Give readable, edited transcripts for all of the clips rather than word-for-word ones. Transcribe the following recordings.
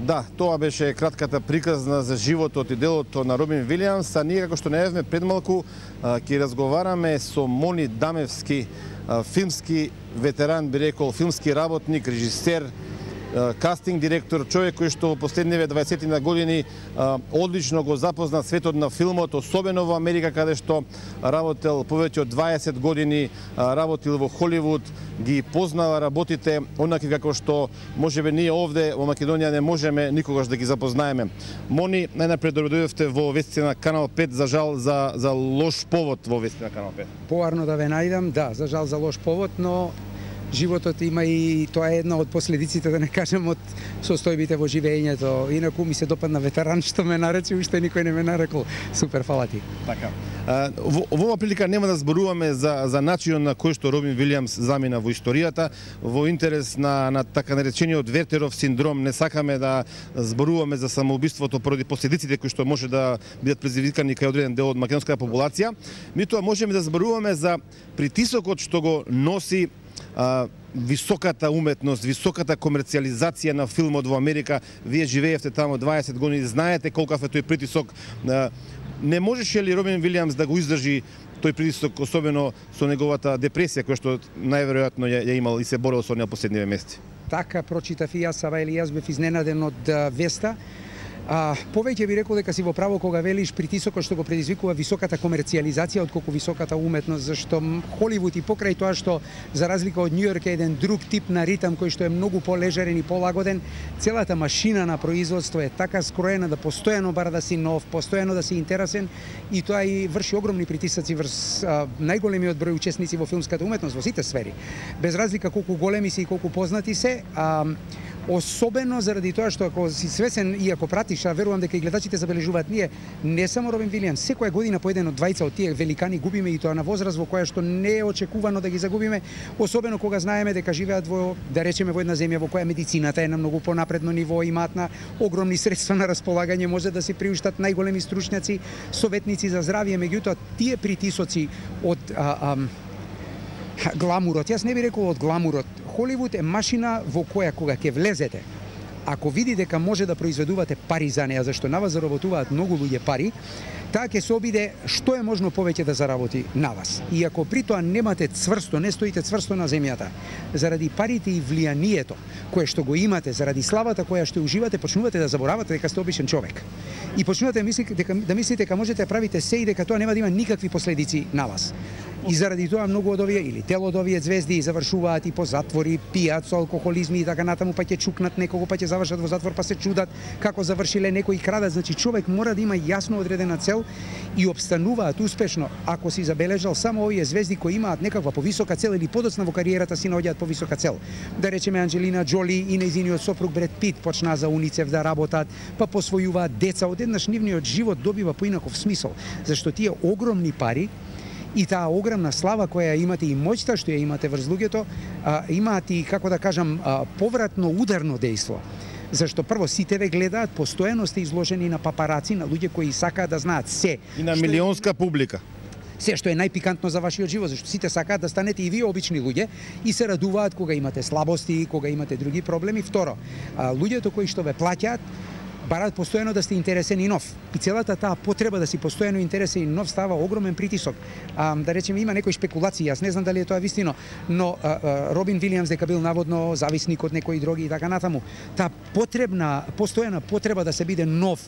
Да, тоа беше кратката приказна за животот и делото на Робин Вилијамс, а ние како што најавме пред малку ќе разговараме со Мони Дамевски, филмски ветеран, би рекол, филмски работник, режисер, кастинг директор, човек кој што во последниве 20 години одлично го запозна светот на филмот, особено во Америка, каде што работел повеќе од 20 години, работил во Холивуд, ги познава работите онакви како што можеби ние овде во Македонија не можеме никогаш да ги запознаеме. Мони, најнапред дојдовте во вестите на Канал 5, за жал за лош повод во вестите на Канал 5. Поарно да ве најдам, да, за жал за лош повод, но животот има и тоа е една од последиците, да не кажем, од состојбите во живеењето. Инаку ми се допадна ветеран што ме нарече, уште никој не ме нарекол. Супер, фала ти. Така. Во оваа прилика нема да зборуваме за начинот на кој што Робин Вилијамс замина во историјата, во интерес на така наречениот Вертеров синдром. Не сакаме да зборуваме за самоубиството поради последиците кои што може да бидат предизвикани кај одреден дел од македонската популација. Меѓутоа можеме да зборуваме за притисокот што го носи високата уметност, високата комерцијализација на филмот во Америка. Вие живеевте таму 20 години, знаете колкав е тој притисок. Не можеше ли Робин Вилијамс да го издржи тој притисок, особено со неговата депресија, која што најверојатно ја имал и се борел со неа последниве месеци? Така прочитав и јас, Сава, или јас бев изненаден од веста. Повеќе би рекол дека си во право кога велиш притисокот што го предизвикува високата комерцијализација отколку високата уметност, зашто Холивуд и покрај тоа што за разлика од Њујорк е еден друг тип на ритам кој што е многу полежерен и полагоден, целата машина на производство е така скроена да постојано бара да си нов, постојано да си интересен, и тоа и врши огромни притисоци врз најголемиот број учесници во филмската уметност во сите сфери. Без разлика колку големи се и колку познати се, особено заради тоа што ако си свесен и ако пратиш, верувам дека и гледачите забележуваат, ние не само Робин Вилијамс, секоја година по еден од двајца од тие великани губиме, и тоа на возраст во која што не е очекувано да ги загубиме, особено кога знаеме дека живеат во, да речеме, во една земја во која медицината е на многу понапредно ниво, имаат на огромни средства на располагање, може да се приуштат најголеми стручњаци, советници за здравје. Меѓутоа тие притисоци од гламурот, јас не би рекол од гламурот. Холивуд е машина во која кога ќе влезете, ако види дека може да произведувате пари за неа, зашто на вас заработуваат многу луѓе пари, таа ќе се обиде што е можно повеќе да заработи на вас. И ако при тоа немате цврсто, не стоите цврсто на земјата, заради парите и влијанието кое што го имате, заради славата која што уживате, почнувате да заборавате дека сте обичен човек. И почнувате да мислите дека можете да правите се и дека тоа нема да има никакви последици на вас. И заради тоа многу од овие или дел од овие звезди завршуваат и по затвори, пијат со алкохолизми и така натаму, па ќе чукнат некого, па ќе завршат во затвор, па се чудат како завршиле, некои крадат. Значи човек мора да има јасно одредена цел и обстануваат успешно. Ако си забележал, само овие звезди кои имаат некаква повисока цел или подоцна во кариерата си наоѓаат повисока цел. Да речеме Анџелина Џоли и нејзиниот сопруг Бред Пит почнаа за УНИЦЕФ да работат, па посвојуваат деца, одеднаш нивниот живот добива поинаков смисол, зашто тие огромни пари и таа огромна слава која имате и моќта што ја имате врз луѓето, имаат и, како да кажам, повратно ударно дејство. Зашто прво сите ве гледаат, постојано сте изложени на папараци, на луѓе кои сакаат да знаат се. И на милионска публика. Се што е најпикантно за вашиот живот, зашто сите сакаат да станете и вие обични луѓе и се радуваат кога имате слабости, кога имате други проблеми. Второ, луѓето кои што ве плаќаат бараат постојано да сте интересен и нов. И целата таа потреба да си постојано интересен и нов става огромен притисок. Да речеме, има некои шпекулации, јас не знам дали е тоа вистино, но Робин Вилијамс дека бил наводно зависник од некои дроги и така натаму. Таа постојана потреба да се биде нов,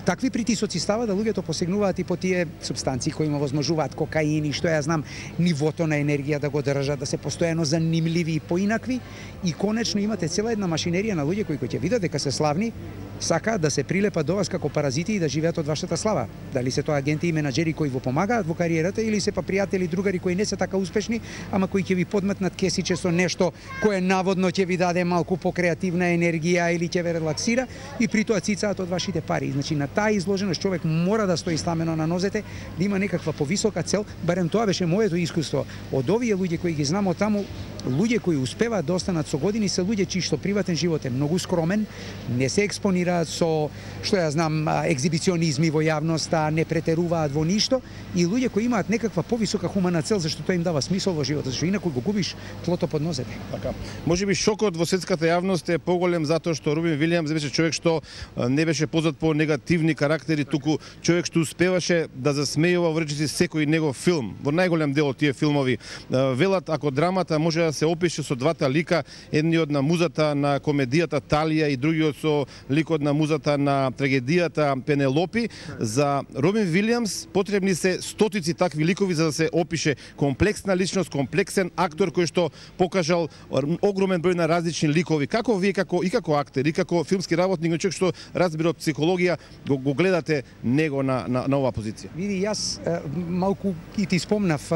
такви притисоци става да луѓето посегнуваат и по тие супстанции кои им овозможуваат, кокаин и што ја знам, нивото на енергија да го држат, да се постојано занимливи и поинакви, и конечно имате цела една машинерија на луѓе кои ќе видат дека се славни, сакаат да се прилепат до вас како паразити и да живеат од вашата слава. Дали се тоа агенти и менаџери кои во помагаат во кариерата, или се па пријатели, другари кои не се така успешни, ама кои ќе ви подметнат кесиче со нешто кое наводно ќе ви даде малку покреативна енергија или ќе ве релаксира, и при тоа цицаат од вашите пари. Значи на таа изложеност човек мора да стои стамено на нозете, да има некаква повисока цел. Барем тоа беше моето искуство. Од овие луѓе кои ги знам од таму, луѓе кои успеваат да останат со години се луѓе чии што приватен живот е многу скромен, не се експонираат со, што ја знам, екзибиционизми во јавноста, не претеруваат во ништо, и луѓе кои имаат некаква повисока хумана цел зашто тоа им дава смисол во животот, зашто инаку го губиш тлото под нозете. Така. Можеби шокот во светската јавност е поголем затоа што Робин Вилијамс беше човек што не беше познат по негативни карактери, туку човек што успеваше да засмејува во речиси секој негов филм. Во најголем дел од тие филмови велат ако драмата може да се опише со двата лика, едниот на музата на комедијата Талија и другиот со ликот на музата на трагедијата Пенелопи, за Робин Вилијамс потребни се стотици такви ликови за да се опише комплексна личност, комплексен актор кој што покажал огромен број на различни ликови. Како вие како актер и како филмски работник, човек што разбира од психологија, го гледате него на оваа позиција? Види, јас малку и ти спомнав,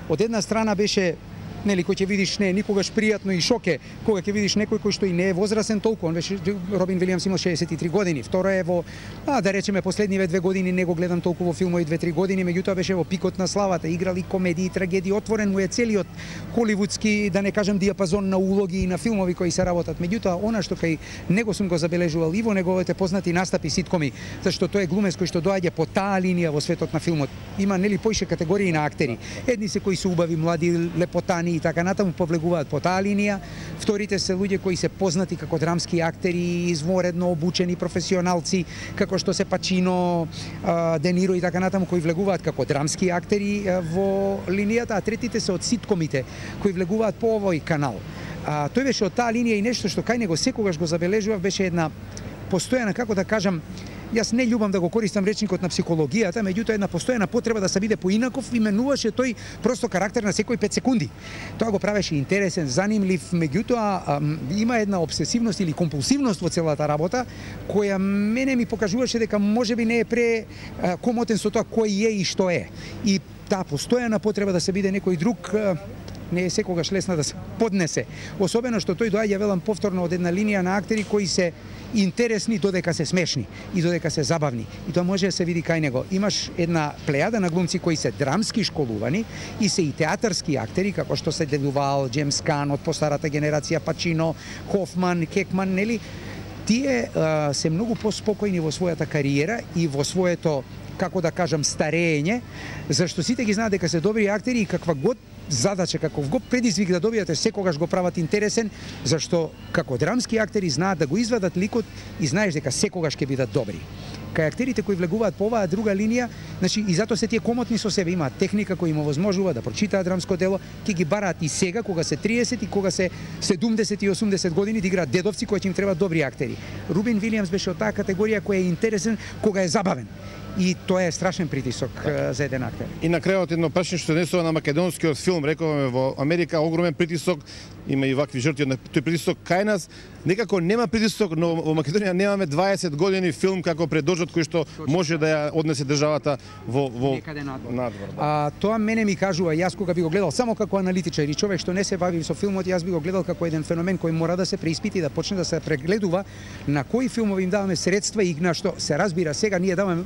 од една страна беше нели кој ќе видиш не никогаш пријатно и шоке кога ќе видиш некој кој што и не е возрасен толку, он беше Робин Вилијамс имал 63 години. Второ е во да речеме последниве 2 години не го гледам толку во филмови 2-3 години, меѓутоа беше во пикот на славата, играли комедии, трагедии, отворен му е целиот холивудски, да не кажам диапазон на улоги и на филмови кои се работат. Меѓутоа она што кај него сум го забележувал и во неговите познати настапи ситкоми, зашто тој е глумец кој што доаѓа по таа линија во светот на филмот. Има нели поише категории на актери. Едни се кои се убави, млади, лепотани и така натаму повлегуваат по таа линија. Вторите се луѓе кои се познати како драмски актери, изворедно обучени професионалци, како што се Пачино, Де Ниро и така натаму, кои влегуваат како драмски актери во линијата, а третите се од ситкомите кои влегуваат по овој канал. Тој беше од таа линија и нешто што кај него секогаш го забележував беше една постојана, како да кажам, јас не љубам да го користам речникот на психологијата, меѓутоа една постојана потреба да се биде поинаков, именуваше тој просто карактер на секој 5 секунди. Тоа го правеше интересен, занимлив, меѓутоа има една обсесивност или компулсивност во целата работа, која мене ми покажуваше дека можеби не е комотен со тоа кој е и што е. И таа постојана потреба да се биде некој друг не е секогаш лесна да се поднесе. Особено што тој доаѓа, велам повторно, од една линија на актери кои се интересни додека се смешни и додека се забавни. И тоа може да се види кај него. Имаш една плејада на глумци кои се драмски школувани и се и театарски актери, како што се Девувал, Джеймс Кан од постарата генерација, Пачино, Хофман, Кекман, нели? Тие се многу поспокојни во својата кариера и во своето, како да кажам, старење, зашто сите ги знаат дека се добри актери и каква год задача, каков го предизвик да добијате, секогаш го прават интересен, зашто како драмски актери знаат да го извадат ликот и знаеш дека секогаш ќе бидат добри. Кај актерите кои влегуваат по оваа друга линија, значи и затоа се тие комотни со себе, имаат техника која им овозможува да прочитаат драмско дело, ќе ги бараат и сега кога се 30 и кога се 70 и 80 години да играат дедовци кои ќе им требаат добри актери. Робин Вилијамс беше од таа категорија која е интересен кога е забавен. И тоа е страшен притисок за еден актер. И на крајот едно прашање што однесува на македонскиот филм, рековме во Америка огромен притисок, има и вакви жртви на тој притисок кај нас. Некако нема притисок, но во Македонија немаме 20 години филм како предожот кој што може да ја однесе државата во некаде надвор. Тоа мене ми кажува, јас кога би го гледал само како аналитичар и човек што не се бави со филмот, јас би го гледал како еден феномен кој мора да се преиспити и да почне да се прегледува на кои филмови им даваме средства и на што се разбира сега ние даваме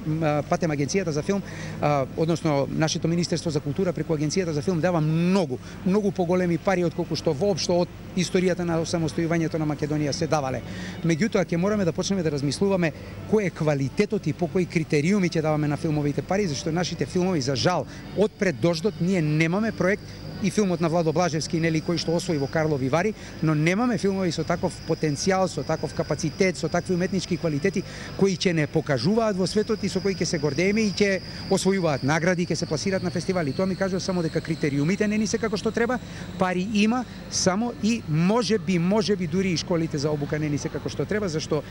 патем агенцијата за филм, односно нашето Министерство за култура преку агенцијата за филм дава многу поголеми пари отколку што воопшто од историјата на самостојувањето на Македонија се давале. Меѓутоа ќе мораме да почнеме да размислуваме кој е квалитетот и по кои критериуми ќе даваме на филмовите пари, зашто нашите филмови за жал од пред дождот ние немаме проект и филмот на Владо Блажевски, нели, кој што освои во Карлови Вари, но немаме филмови со таков потенцијал, со таков капацитет, со такви уметнички квалитети кои ќе не покажуваат во светот и со кои ќе се гордееме и ќе освојуваат награди, ќе се пласираат на фестивали. Тоа ми кажува само дека критериумите не ни се како што треба, пари има, само и можеби дури и школите за обука не ни се како што треба, зашто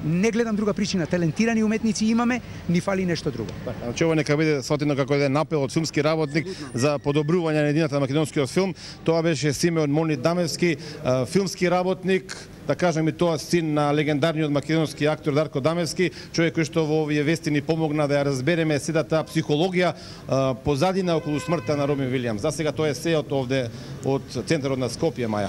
не гледам друга причина. Талентирани уметници имаме, ни фали нешто друго. Значи ова нека биде сватено како еден апел од филмски работник за подобрување на на македонскиот филм. Тоа беше Симеон Мони Дамевски, филмски работник, да кажем и тоа син на легендарниот македонски актор Дарко Дамевски, човек кој што во овие вести ни помогна да ја разбереме седата психологија позадина околу смртта на Робин Вилијамс. За сега тоа е се од овде од центарот на Скопје, Маја.